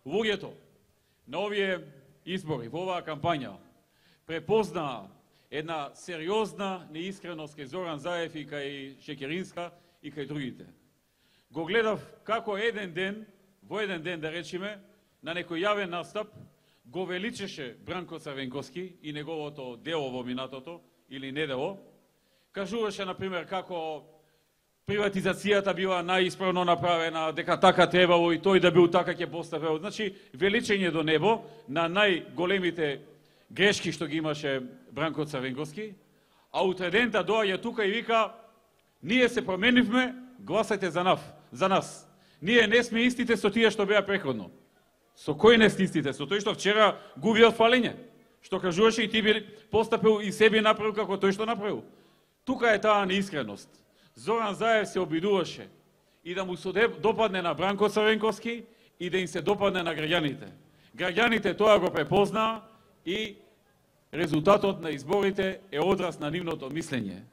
луѓето на овие избори, во оваа кампања, препознаа една сериозна неискреност кај Зоран Заев и кај Шекеринска и кај другите. Го гледав како во еден ден да речеме, на некој јавен настап, го величеше Бранко Црвенковски и неговото дело во минатото, или недело. Кажуваше, например, како приватизацијата била најисправно направена, дека така требало и тој да бил така ќе поставил. Значи, величење до небо на најголемите грешки што ги имаше Бранко Црвенковски, а утредента доаѓа тука и вика: ние се променивме, гласајте за нас. Ние не сме истите со тие што беа претходно. Со кој не сте истите? Со тој што вчера губи од фалење. Што кажуваше и ти би постапил и себе направил како тој што направил. Тука е таа неискреност. Зоран Заев се обидуваше и да му се допадне на Бранко Црвенковски и да им се допадне на граѓаните. Граѓаните тоа го препознаа и резултатот на изборите е одраз на нивното мислење.